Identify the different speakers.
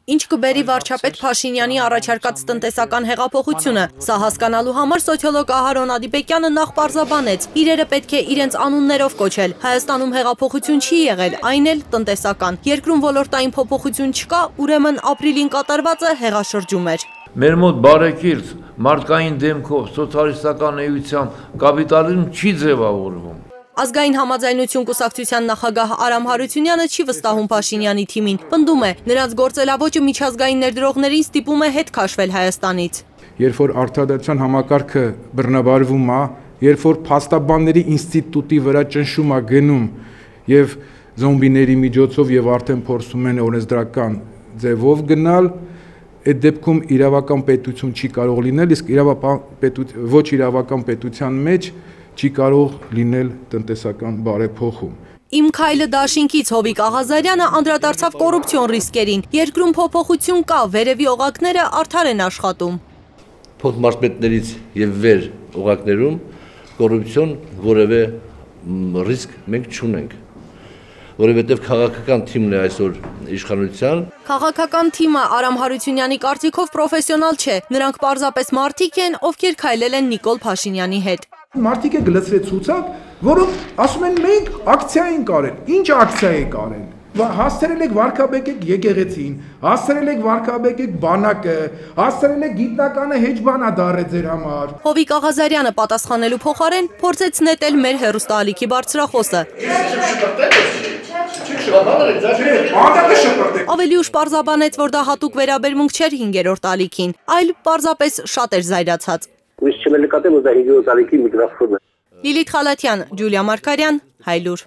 Speaker 1: Ինչ կբերի վարչապետ Փաշինյանի առաջարկած տնտեսական հեղափոխությունը։ Սա հասկանալու համար սոցիոլոգ Ահարոն Ադիբեկյանը նախ պարզաբանեց. իրերը պետք է իրենց անուններով կոչել։ Հայաստանում հեղափոխություն չի եղել, այն էլ տնտեսական։ Երկրում ոլորտային փոփոխություն չկա, ուրեմն ապրիլին կատարվածը հեղաշրջում էր։
Speaker 2: Մեր մոտ բարեկիրթ մարդկային դեմքով սոցիալիստական էության կապիտալիզմ չի ձևավորվում։
Speaker 1: Ազգային համաձայնություն կուսակցության նախագահ Արամ Հարությունյանը չի վստահում Փաշինյանի թիմին, պնդում է, նրանց գործելավոճը միջազգային ներդրողներին ստիպում է հետ քաշվել Հայաստանից։
Speaker 3: Երբ որ արդարադատության համակարգը բռնաբարվում է, երբ որ փաստաբանների ինստիտուտի վրա ճնշում է գնում եւ զոմբիների միջոցով եւ արդեն փորձում են օրենսդրական ձևով գնալ, այդ դեպքում իրավական պետություն չի կարող լինել, իսկ ոչ իրավական պետության մեջ չի կարող լինել տնտեսական բարեփոխում։
Speaker 1: Իմ քայլը դաշինքից Հովիկ Աղազարյանը անդրադարձավ կոռուպցիոն ռիսկերին։ Երկրում փոփոխություն կա, վերևի օղակները արդար են աշխատում։
Speaker 4: Փոխմարզպետներից եւ վեր օղակներում կոռուպցիոն որևէ ռիսկ մենք չունենք, որովհետև քաղաքական թիմն է այսօր իշխանության։
Speaker 1: Քաղաքական թիմը Արամ Հարությունյանի կարծիքով պրոֆեսիոնալ չէ, նրանք պարզապես մարդիկ են, ովքեր քայլել են Նիկոլ Փաշինյանի հետ։
Speaker 3: Մարդիկ է գլցրեց ցուցակ, որոնք ասում են մենք ակցիա ենք արել։ Ինչ ակցիա եք արել։ Հասցրել եք վարկաբեկեք եկեղեցին, հասցրել եք վարկաբեկեք բանակը, հասցրել եք գիտնականը հեչ բանա դարել ձեր համար։
Speaker 1: Հովիկ Աղազարյանը պատասխանելու փոխարեն փորձեց նետել մեր հեռուստաալիքի բարձրախոսը։ Ավելի ուշ պարզաբանեց, որ դա հատուկ վերաբերմունք չէր 5-րդ ալիքին, այլ պարզապես շատ էր զայրացած։
Speaker 5: Լիլիթ Խալաթյան, Ջուլիա Մարկարյան, Հայլուր։